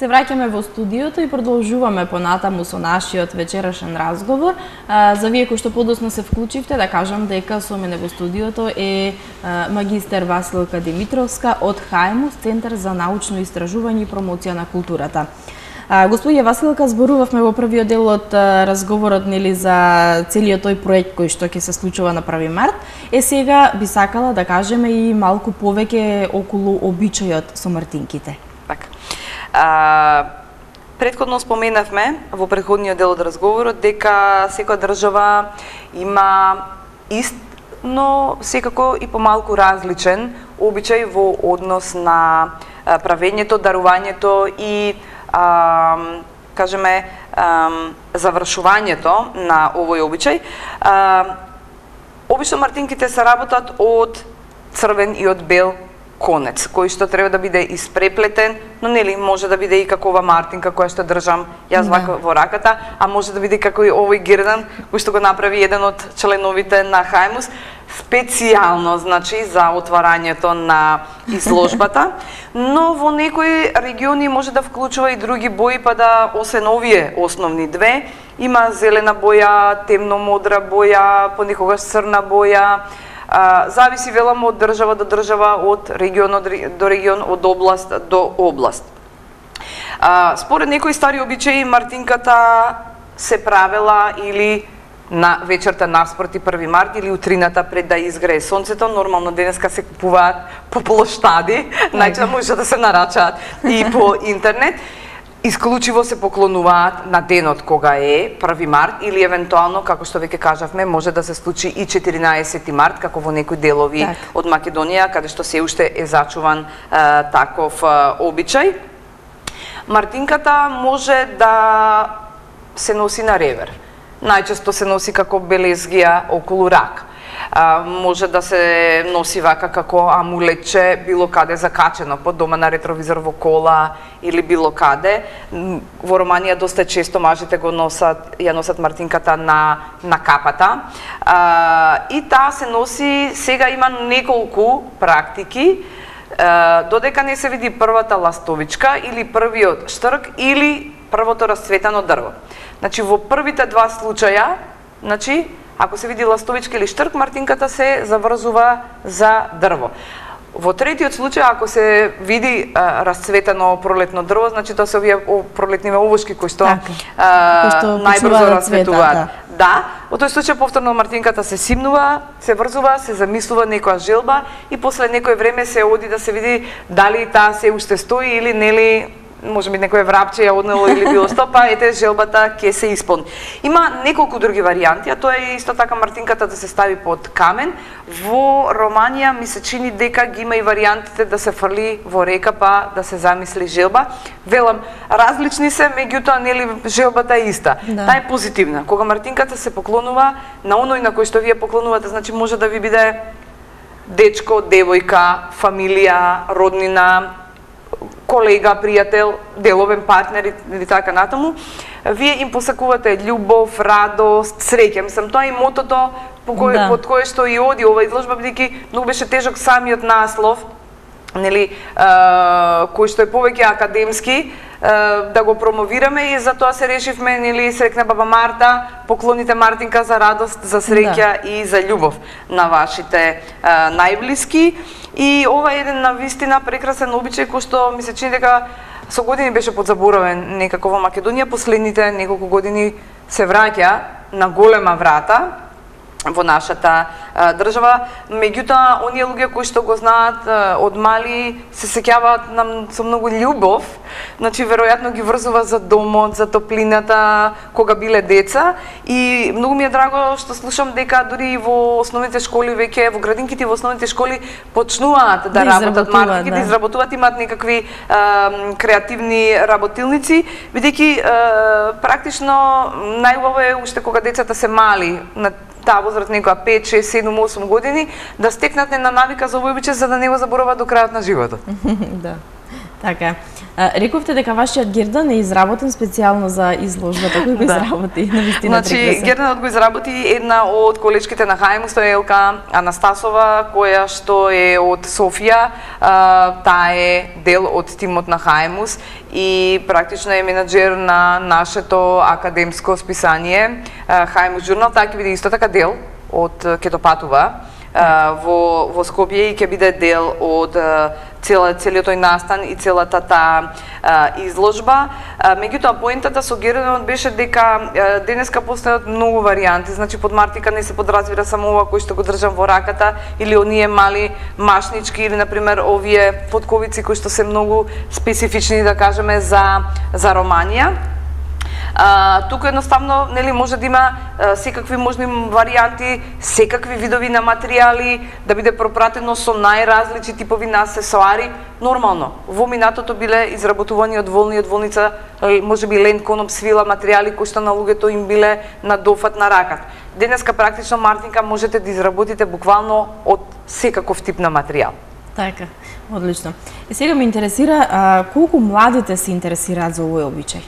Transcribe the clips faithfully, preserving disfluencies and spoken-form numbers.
Се враќаме во студиото и продолжуваме понатаму со нашиот вечерашен разговор. За вие кои што подоцна се вклучивте, да кажам дека со мене во студиото е магистер Василка Димитровска од Хајмус, Центар за научно истражување и промоција на културата. Господја Василка, зборувавме во првиот дел од разговорот нели за целиот тој проект кој што ќе се случува на први март. Е сега би сакала да кажеме и малку повеќе околу обичајот со мартинките. Така. А, предходно споменавме во претходниот дел од разговорот дека секоја држава има ист, но секако и помалку различен обичај во однос на правењето, дарувањето и а, кажеме а, завршувањето на овој обичај. А, обично мартинките се работат од црвен и од бел конец, кој што треба да биде испреплетен, но нели може да биде и како ова мартинка која што држам јас вака во раката, а може да биде како и овој гердан кој што го направи еден од членовите на Хајмус, специјално, значи, за отварањето на изложбата, но во некои региони може да вклучува и други бои, па да освен овие основни две, има зелена боја, темно-модра боја, понекогаш црна боја. А, зависи велам од држава до држава, од регион до регион, од област до област. А, според некои стари обичаи мартинката се правела или на вечерта наспроти први март или утрината пред да изгрее сонцето. Нормално денеска се купуваат по плоштади, најчесто може да се нарачаат и по интернет. Исклучиво се поклонуваат на денот кога е први март или евентуално, како што веќе кажавме, може да се случи и четиринаесети март, како во некои делови так. Од Македонија, каде што се уште е зачуван а, таков а, обичај. Мартинката може да се носи на ревер. Најчесто се носи како белезгија околу рак. А, може да се носи вака како амулетче било каде закачено под дома на ретровизор во кола или било каде. Во Романија доста често мажите го носат, ја носат мартинката на на капата. А, и таа се носи, сега има неколку практики, а, додека не се види првата ластовичка или првиот штрк или првото расцветано дрво. Значи во првите два случаја, значи ако се види ластовичка или штрк, мартинката се заврзува за дрво. Во третиот случај, ако се види а, расцветено пролетно дрво, значи тоа се овие пролетниве овошки кои што, а, што најбрзо расцветуваат. Да. да, во тој случај повторно мартинката се симнува, се врзува, се замислува некоја желба и после некој време се оди да се види дали таа се уште стои или нели може би некој врапче ја однело или било што, па ете желбата ќе се исполни. Има неколку други варијанти, а тоа е исто така мартинката да се стави под камен. Во Романија ми се чини дека ги има и варијантите да се фрли во река па да се замисли желба. Велам, различни се, меѓутоа нели желбата е иста. Да. Таа е позитивна. Кога мартинката се поклонува на оној на кој што вие поклонувате, значи може да ви биде дечко, девојка, фамилија, роднина, колега, пријател, деловен партнер или така натаму, вие им посакувате љубов, радост, среќа. Мислам, тоа е мотото по кој, да. Под кое што и оди ова изложба, бидејќи многу беше тежок самиот наслов, нели, а, кој што е повеќе академски, а, да го промовираме и затоа се решивме, нели, срекна баба Марта, поклоните Мартинка за радост, за среќа да. И за љубов на вашите а, најблиски. И ова е еден навистина прекрасен обичај кој што ми се чини дека со години беше подзаборавен некако во Македонија, последните неколку години се враќа на голема врата во нашата а, држава, меѓутоа оние луѓе кои што го знаат а, од мали се сеќаваат нам со многу љубов, значи веројатно ги врзува за домот, за топлината кога биле деца и многу ми е драго што слушам дека дури во основните школи веќе во градинките во основните школи почнуваат да, да работат мартинки, да. Да изработуваат, имаат некакви а, креативни работилници, бидејќи практично најубаво е уште кога децата се мали на таа возраст некоја пет, шест, седум, осум години, да стекнат на навика за овој обичај за да не го заборават до крајот на животот. Да. Така. Рековте дека вашиот гердан е изработен специјално за изложбата. Кој го изработи? Навистина Значи, герданот го изработи една од колечките на Хаимус, тоа е Елка Анастасова, која што е од Софија. Таа е дел од тимот на Хаимус и практично е менаџер на нашето академско списание Хаимус журнал. Таа ќе биде исто така дел од ќе допатува во во Скопје и ќе биде дел од цела целиот тој настан и целата таа изложба. Меѓутоа поентата со герданот беше дека денеска постојат многу варијанти. Значи под мартика не се подразбира само ова кој што го држам во раката или оние мали машнички или на пример овие потковици кои што се многу специфични, да кажеме, за за романија. А, туку едноставно нели може да има а, секакви можни варијанти, секакви видови на материјали, да биде пропратено со најразлични типови на аксесоари. Нормално, во минатото биле изработувани од волни, од волница, можеби лент, коноп, свила, материјали кои што на луѓето им биле на дофат на раката. Денеска практично мартинка можете да изработите буквално од секаков тип на материјал. Така, одлично. И сега ме интересира а, колку младите се интересираат за овој обичај?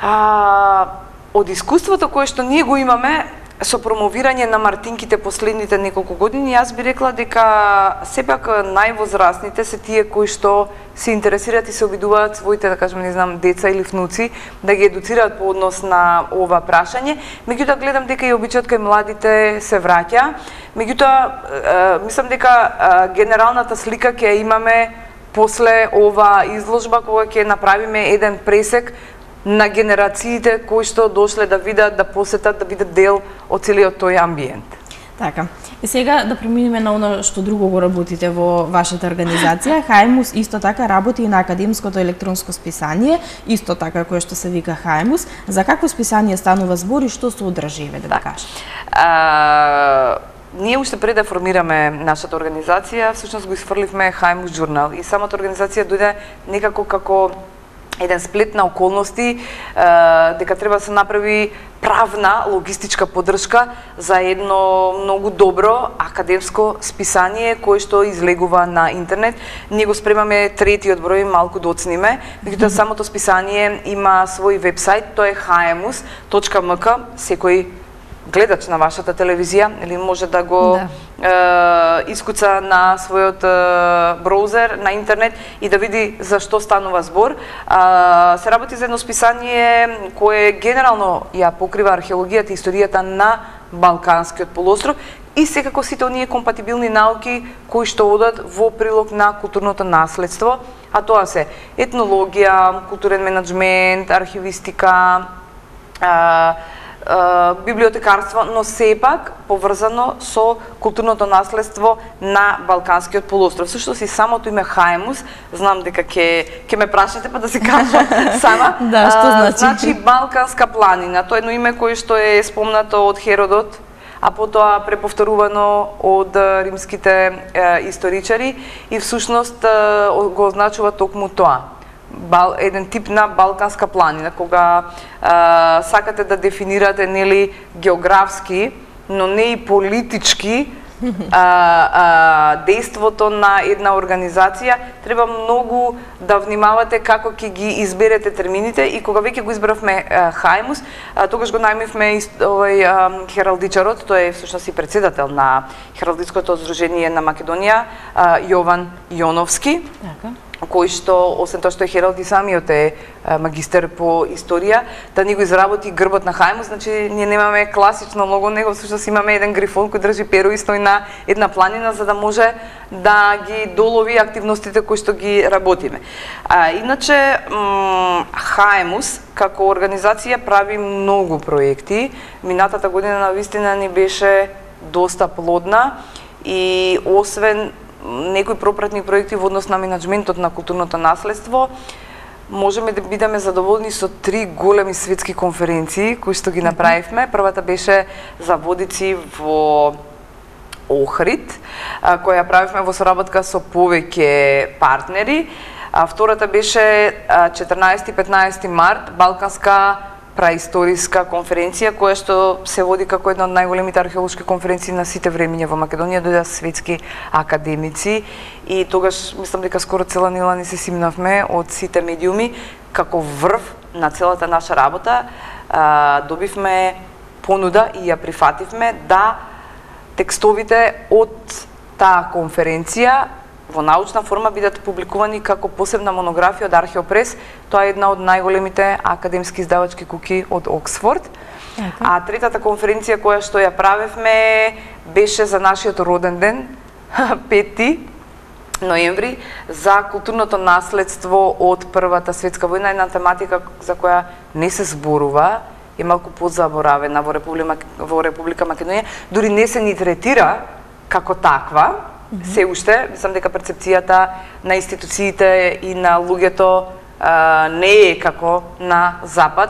А, од искуството кое што ние го имаме со промовирање на мартинките последните неколку години, јас би рекла дека сепак највозрасните се тие кои што се интересираат и се обидуваат своите, да кажеме, не знам, деца или внуци да ги едуцираат по однос на ова прашање. Меѓутоа гледам дека и обичајот кај младите се враќа. Меѓутоа мислам дека генералната слика ќе имаме после ова изложба кога ќе направиме еден пресек на генерациите кои што дошле да видат, да посетат, да бидат дел од целиот тој амбиент. Така. И сега да преминеме на оно што друго го работите во вашата организација. Хаимус исто така работи и на академското електронско списание, исто така кое што се вика Хаимус. За какво списание станува збор и што содржи, да да кажете? А, ние уште пред да формираме нашата организација, всушност го изфрливме Хаимус журнал и самата организација дојде некако како еден сплет на околности, дека треба да се направи правна логистичка поддршка за едно многу добро академско списание кое што излегува на интернет. Ние го спремаме третиот број, малку доцниме, меѓутоа самото списание има свој вебсайт, тоа е хаемус точка ем ка. Секој гледач на вашата телевизија или може да го да. Е, искуца на својот е, браузер на интернет и да види за што станува збор. Е, се работи за едно списание кое генерално ја покрива археологијата и историјата на Балканскиот полуостров и секако сите оние компатибилни науки кои што одат во прилог на културното наследство, а тоа се етнологија, културен менаџмент, архивистика, е, библиотекарство, но сепак поврзано со културното наследство на Балканскиот полуостров. Всушност и самото име Хаимус, знам дека ќе ќе ме прашате па да се кажам сама. Да, што значи? Значи Балканска планина, тоа е едно име кое што е спомнато од Херодот, а потоа преповторувано од римските е, историчари и всушност е, го означува токму тоа. Бал, еден тип на Балканска планина, кога а, сакате да дефинирате нели географски, но не и политички а, а, дејството на една организација, треба многу да внимавате како ќе ги изберете термините и кога веќе го избравме а, Хаимус, а, тогаш го најмивме овој а, хералдичарот, тој е всушност и председател на Хералдичкото здружение на Македонија, а, Јован Јоновски. Така. Кој што, освен тоа што е хералд и самиот е магистер по историја, да ни го изработи грбот на Хаимус, значи ние немаме класично лого, него всушност имаме еден грифон кој држи перо и стои на една планина за да може да ги долови активностите кои што ги работиме. А, иначе, Хаимус како организација прави многу проекти. Минатата година навистина ни беше доста плодна и освен некои пропратни проекти во однос на менаџментот на културното наследство, можеме да бидеме задоволни со три големи светски конференции кои што ги направивме. Првата беше за водици во Охрид, која правивме во соработка со повеќе партнери. А втората беше четрнаесети и петнаесети март, Балканска праисториска конференција која што се води како една од најголемите археолошки конференции на сите времиња во Македонија, дојдоа светски академици и тогаш мислам дека скоро цела нела ни се симнавме од сите медиуми како врв на целата наша работа. А, добивме понуда и ја прифативме да текстовите од таа конференција во научна форма бидат публикувани како посебна монографија од Археопрес. Тоа е една од најголемите академски издавачки куќи од Оксфорд. Okay. А третата конференција која што ја правевме беше за нашиот роден ден, пети ноември, за културното наследство од Првата светска војна, една тематика за која не се зборува, е малку позаборавена во Република, во Република Македонија, дури не се ни третира како таква. Се уште, мислам дека перцепцијата на институциите и на луѓето а, не е како на Запад,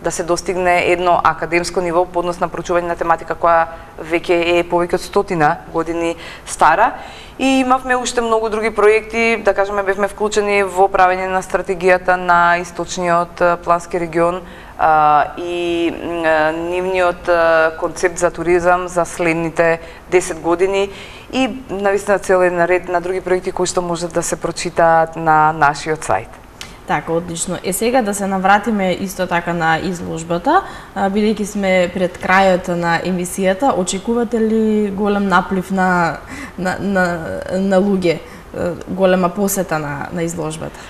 да се достигне едно академско ниво по однос на проучување на тематика која веќе е повеќе од стотина години стара. И имавме уште многу други проекти, да кажеме бевме вклучени во правење на стратегијата на источниот плански регион а, и а, нивниот а, концепт за туризам за следните десет години и навистина цел една ред на други проекти кои што можат да се прочитаат на нашиот сајт. Така, одлично. Е сега да се навратиме исто така на изложбата, бидејќи сме пред крајот на емисијата, очекувате ли голем наплив на на на, на луѓе, голема посета на на изложбата?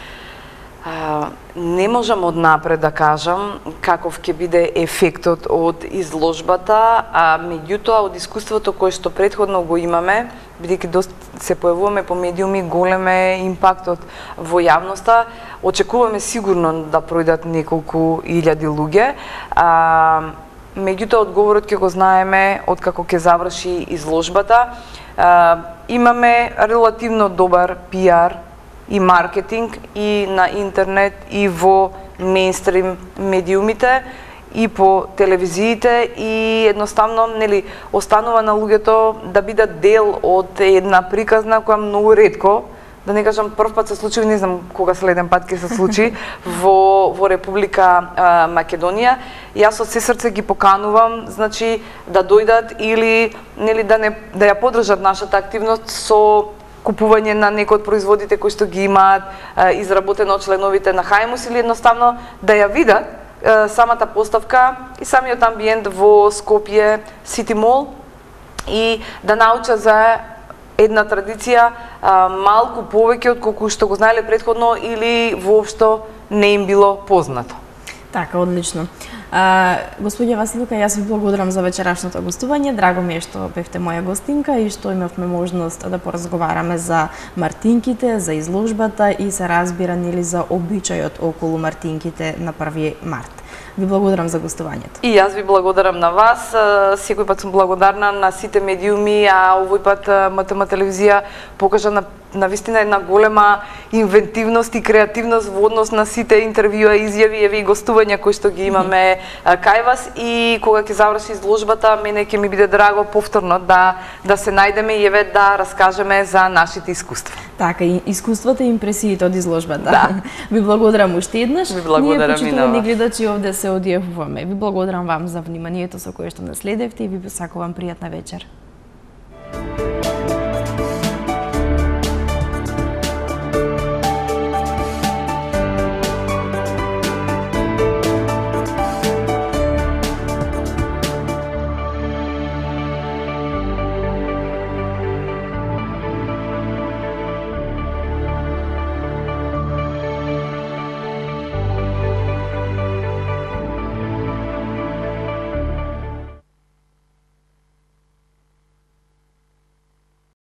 А, не можам однапред да кажам каков ќе биде ефектот од изложбата, а меѓутоа од искуството кое што претходно го имаме, бидејќи доста се појавуваме по медиуми, голем е импактот во јавноста, очекуваме сигурно да пројдат неколку илјади луѓе. А, меѓутоа одговорот ќе го знаеме од како ќе заврши изложбата. А, имаме релативно добар пиар и маркетинг и на интернет и во мејнстрим медиумите и по телевизиите и едноставно нели останува на луѓето да бидат дел од една приказна која многу ретко, да не кажам прв пат се случи, не знам кога следен пат ќе се случи во во Република а, Македонија. Јас од се срце ги поканувам, значи да дојдат или нели да не да ја поддржат нашата активност со купување на некои од производите кои што ги имаат а, изработено од членовите на Хајмус или едноставно да ја видат а, самата поставка и самиот амбиент во Скопје Сити Мол и да научат за една традиција а, малку повеќе од колку што го знаеле претходно или воопшто не им било познато. Така, одлично. А, господје Василука, јас ви благодарам за вечерашното гостување. Драго ми е што бевте моја гостинка и што имавме можност да поразговараме за мартинките, за изложбата и се разбира нели за обичајот околу мартинките на први март. Ви благодарам за гостувањето. И јас ви благодарам на вас. Секој пат сум благодарна на сите медиуми, а овој пат МТМ телевизија покажа на на вистина една голема инвентивност и креативност во однос на сите интервјуа, изјави, еве и гостувања кои што ги имаме кај вас и кога ќе заврши изложбата, мене ќе ми биде драго повторно да да се најдеме и еве да раскажеме за нашите искуства. Така, и искуствата и импресиите од изложбата. Да. Ви благодарам уште еднаш. Ви благодарам. Ние, почитувани гледачи, овде се одјавуваме. Ви благодарам вам за вниманието со кое што наследевте и ви посакувам пријатна вечер.